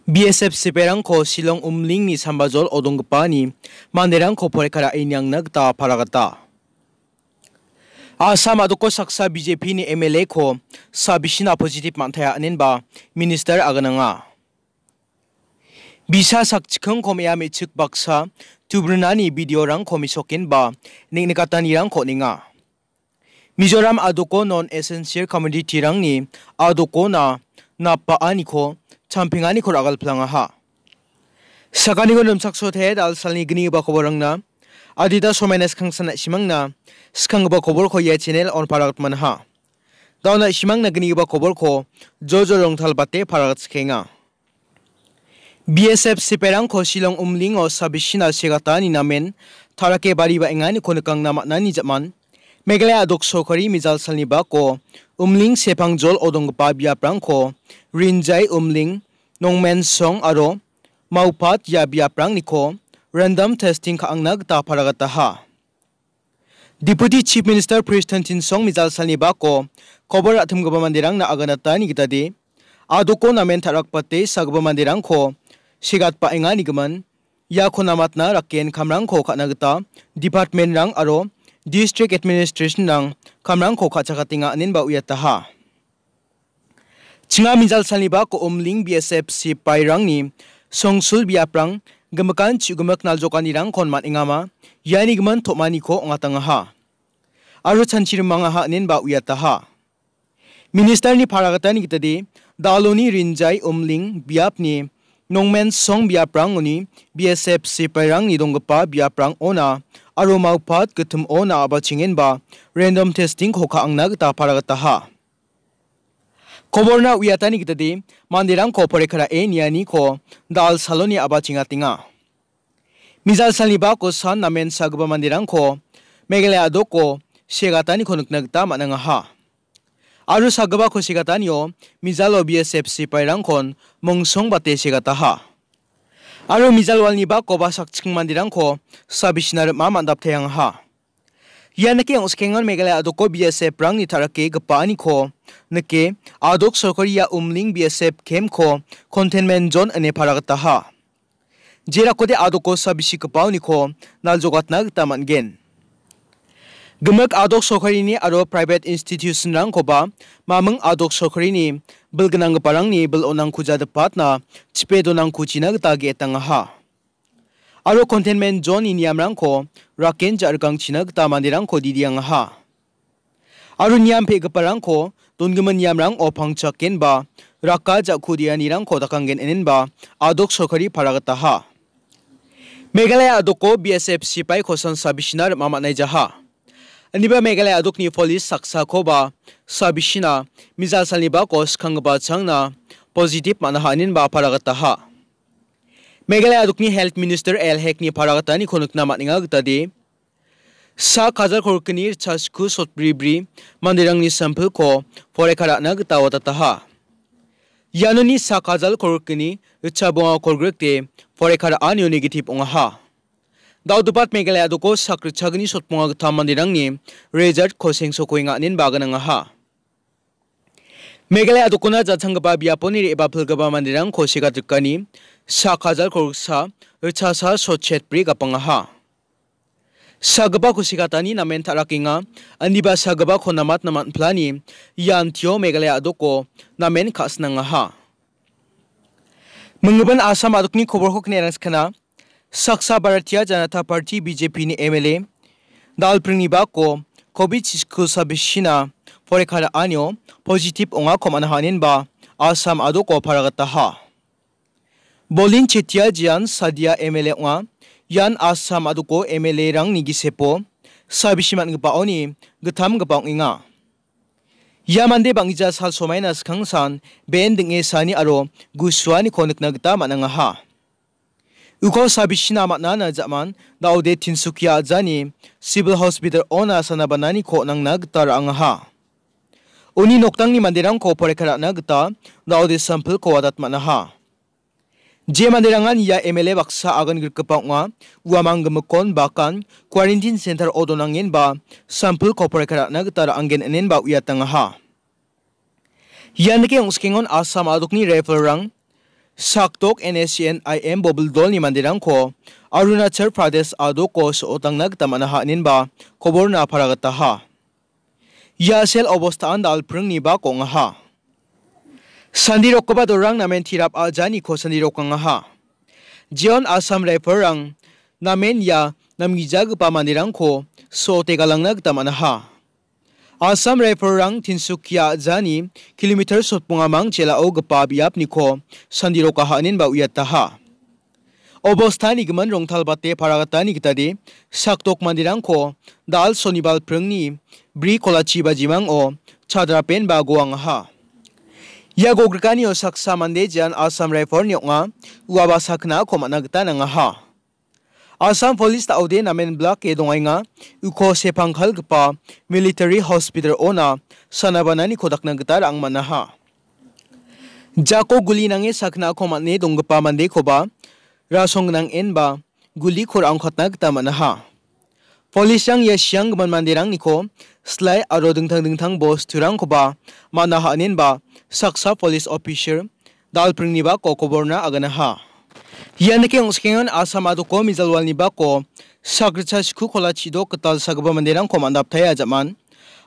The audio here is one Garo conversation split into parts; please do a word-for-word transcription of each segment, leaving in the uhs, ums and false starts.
B S F sipairangko Shillong Umlingni sambajol odonggipani manderangko poreka ra·e niangna gita paragata. Assam a·doko saksa B J P ni M L A ko sabisina positive man·taia, inenba minister agananga. Bisa sakchikingko me·a me·chik baksa tubrinani video-rangko mesokenba neng·nikatanirangko on·enga. Mizoram a·doko non-essential commodity-rangni a·dokona napa·aniko champenganiko ragalplangaha. Sakaniko nimchaksote dal salni gnigipa koborangna adita somaina skangsan na·simangna skanggipa koborko ia channel on paragatmanaha. Dauna na·simangna gnigipa koborko jojo rongtalbate paragatskikenga. B S F sipairangko Shillong Umlingo sabisina segatani namen tarake bari ba·enganiko nikangna man·ani jaman Meghalaya a·dok sorkari mijal salni bako Umling sepangjol odonggipa biaprangko Rinjai Umling, Nongmensong aro Maupat ia biaprangniko random testing ka·angna gita paragataha. Deputy Chief Minister Prestone Tynsong mijal salni bako kobor ra·timgipa manderangna aganatani gitade, a·doko namen ta·rakbate sagipa manderangko segatbaengani gimin, iako namatna raken kamrangko ka·na gita department-rang aro district administration-rang kamrangko ka·chakatenga inenba uiataha. Chinga mijal salni bako Umling B S F sipairangni songsul biaprang gimikan chu·gimik naljokanirangkon man·engama, iani gimin tom·aniko ong·atangaha. Aro chanchi rimangaha inenba uiataha. Ministerni paragatani gitade, Daloni Rinjai Umling biapni Nongmensong biaprangoni B S F sipairangni donggipa biaprangona aro Maupat gittimona a·bachengenba random testing-ko ka·angna gita paragataha. Koborna uiatani gitade manderangko poreka ra·e nianiko dal saloni a·bachengatenga. Mijal salni bako san namen sagipa manderangko Meghalaya a·doko segataniko nikna gita man·angaha. Aro sagipako segatanio mijalo B S F sipairangkon mongsongbate segataha. Aro mijal walni bakoba sakchikeng manderangko sabisina rim·a man·dapteangaha. Ia nike ong·skengon Meghalaya a·doko B S F-rangni ta·rake gipaaniko nike, a·dok sorkari ia Umling B S F camp-ko containment zone ine paragataha. Jerakode a·doko sabisigipaoniko naljogatna gita man·gen. Gimik a·dok sorkarini aro private institution-rangkoba maming a·dok sorkarini bilgnanggiparangni bil-onangko jadipatna chipe donangko china gita ge·etangaha. Aro containment zone-ni niamrangko raken ja·rikangchina gita manderangko didiangaha. Aro niam pe·giparangko dongimin niamrango pangchakenba raka ja·ku dianirangko dakanggen inenba a·dok sorkari paragataha. Meghalaya a·doko B S F sipaiko san sabisina rim·a man·aijaha. Indiba Meghalaya a·dokni polis saksakoba sabisina mijal salni bako skanggipa changna positive man·aha inenba paragataha. Meghalaya a·dokni Health Minister L Hekni paragataniko nikna man·enga gitade, sak hajal kolgrikni ritchasku sotbribri manderangni sampilko poreka ra·na gita watataha. Ianoni sak hajal kolgrikni ritchabonga kolgrikde poreka ra·anio negative ong·aha. Daodopat Meghalaya a·doko sak ritchagni sotbonga gittam manderangni resultko sengsokoenga inenba aganangaha. Meghalaya a·dokona jachanggipa biaponi re·bapilgipa manderangko segatrikani sak hajal kolgriksa ritchasa sotchetbri gapangaha. Sagipako segatani namen ta·rakenga, indiba sagipako namatna man·plani ia antio Meghalaya a·doko namen ka·sinangaha. Minggimin Assam a·dokni koborko kine·rangskana, saksa Bharatiya Janata Party, B J P ni M L A, dalpringni bako covid chiku sabisina poreka ra·anio positive ong·ako man·aha inenba Assam a·doko paragataha. Bolin Chetia jian Sadia M L A ong·a. Ian Assam a·doko M L A-rangni gisepo sabisi man·gipaoni gittamgipa ong·enga. Ia mande bang·gija sal somaina skangsan ben ding·e sani aro gusuaniko nikna gita man·angaha. Uko sabisina man·ana ja·man daode Tinsukia ajani Civil Hospital-ona sana bananiko nangna gita ra·angaha. Uni noktangni manderangko poreka ra·na gita daode sampilko wadat man·aha. Je manderangan ia M L A baksa agan grikgipa ong·a, uamang gimikkon bakan quarantine center-o donangenba sampilko poreka ra·na gita ra·anggen inenba uiatangaha. Ian dake ong·skengon Assam a·dokni rifle-rang Sakdok N S C N I M bobil dolni manderangko Arunachal Pradesh adoko so·otangna gita man·aha, inenba koborna paragataha. Ia sel obostaan dal·pringni bak ong·aha. Sandirokgipa dorang namen tirap a·janiko sandirokangaha. Jeon Assam Rifle-rang namen ia namgijagipa manderangko so·ote galangna gita man·aha. Assam Rifle-rang Tinsukia a·jani kilometer sotbongamang jelao gipa biapniko sandirokaha inenba uiataha. Obostani gimin rongtalbate paragatani gitade sakdok manderangko dal sonibal pringni bri kolachi bajimango chadrapenba goangaha. Ia gogrikanio saksa mande jean Assam Rifle-ni ong·a, uaba saknako man·a gita nangaha. Assam Police da·ode namen blake dongaenga, uko sepangkalgipa military hospital-ona sanabananiko dakna gita ra·ang man·aha. Jako guli nange saknako man·e donggipa mandekoba rasong gnang enba guliko ra·angkatna gita man·aha. Police-rang ia sianggimin manderangniko slai aro dingtang dingtang bosturangkoba man·aha inenba saksa police officer dal·pringni bako koborna aganaha. Ia nike ong·sekengan Assam adoko mijalwalni bako sakritcha sku kola chidok gital sagipa manderangko man·daptaia jaman.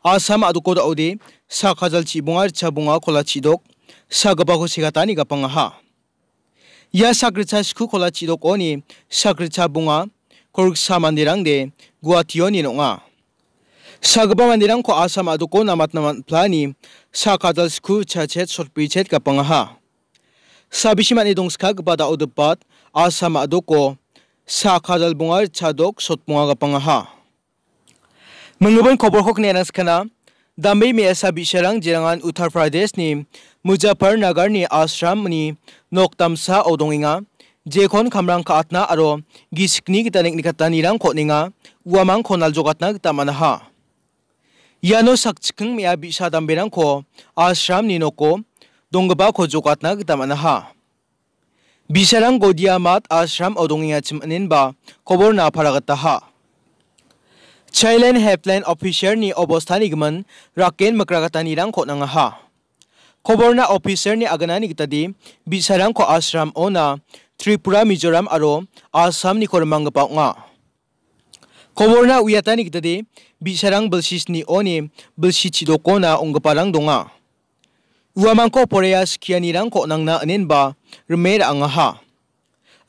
Assam adoko da·ode sak hajal chibonga ritcha bonga kola chidok sagipako segatani gapangaha. Ia sakritcha sku kola chidokoni sakritcha bonga kolgritsa manderangde Guwahationi ong·a. Sagipa manderangko Assam adoko namatna man·plani sak hajal sku chachet sotbrichet gapangaha. Sabisi man·e dongskagipa da·odebat Assam adoko sak hajal bonga chadok sotbonga gapangaha. Minggimin koborko kniarang skana, dambe me·asa bi·sarang jerangan Uttar Pradeshni Muzaffarnagarni ashramni nok damsao dongenga. Jekon kamrang ka·atna aro gisikni gita neng·nikatanirangko on·enga, uamangko naljokatna gita man·aha. Iano sakchikking me·a bi·sa damberangko ashramni noko donggipako jokatna gita man·aha. Bi·sarang Gaudiya Math ashram-o dongengachim inenba koborna paragataha. Childline Helpline officer-ni obostani gimin raken mikragatanirangko nangaha. Koborna officer-ni aganani gitade bi·sarangko ashram-ona Tripura, Mizoram aro Assamniko rimanggipa ong·a. Koborna uiatani gitade bi·sarang bilsi sni-oni bilsi chidokona ong·giparang donga. Uamangko porea skianirangko on·angna inenba rime ra·angaha.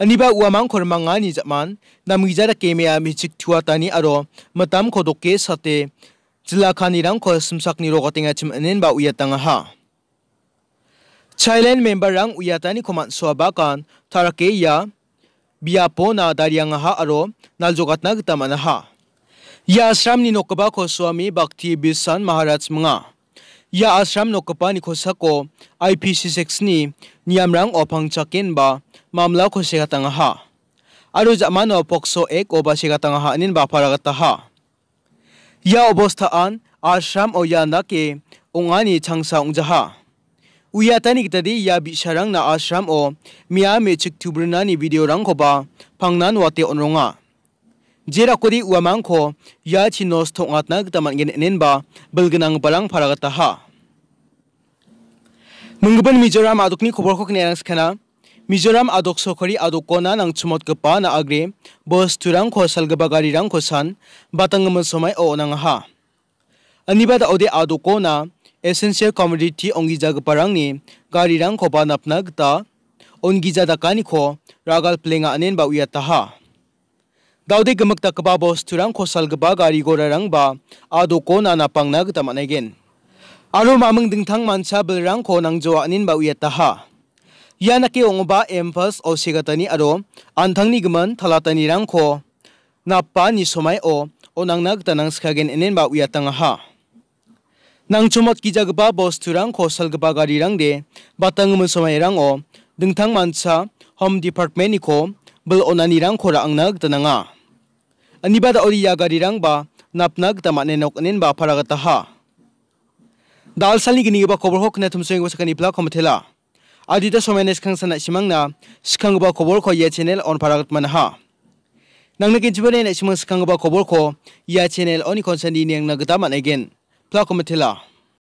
Aniba uamangko rimangani ja·man namgija dake me·a me·chik tuatani aro mitamko doke sate jilakanirangko simsakni rogatengachim inenba uiatangaha. Childline member-rang uiataniko man·soabakan tarake ia biapona dariangaha aro naljogatna gita man·aha. Ia ashramni nokgipako Swami Bhakti Bisan Maharaj minga. Ia ashram nokgipani kosako I P C six-ni niamrango pangchakenba mamlako segatangaha. Aro ja·mano pokso ek-oba segatangaha inenba paragataha. Ia obostaan ashram-o ia dake ong·ani changsa ong·jaha. Uiatani gitade ia bi·sarangna ashram-o me·a me·chik tubrinani video-rangkoba pangnan wate on·ronga. Jerakode uamangko iachi nosto ong·atna gita man·gen inenba bilgnanggiparang paragataha. Minggimin Mizoram adokni koborko kniarang skana. Mizoram adok sokari adokona nangchimotgipa na·agre bosturangko salgipa garirangko san batanggimin somaio on·angaha. Aniba da·ode adokona essential commodity onggijagiparangni garirangkoba napna gita onggija dakaniko ragalplenga inenba uiataha. Da·ode gimik dakgipa bosturangko salgipa gari gorarangba adokona napangna gita man·aigen. Aro maming dingtang mancha bilrangko nangjoa inenba uiataha. Ia nake ong·oba impulse-o segatani aro an·tangni gimin talatanirangko napani somaio on·angna gita nangskagen inenba uiatangaha. Nangchomotgijagipa bosturangko salgipa garirangde batanggimin somairango dingtang mancha Home Department-niko bil on·anirangko ra·angna gita nanga. Aniba da·ode ia garirangba napna gita man·enok inenba paragataha. Dalsalni ginigipa koborko knatumsoenggipa sakani plako mitela. Adita somaina skang sana·simangna skanggipa koborko ia channel-on paragatmanaha. Nangna genchibode na·simang skanggipa koborko ia channel-oni konsandi niangna gita man·aigen. Plako mitela.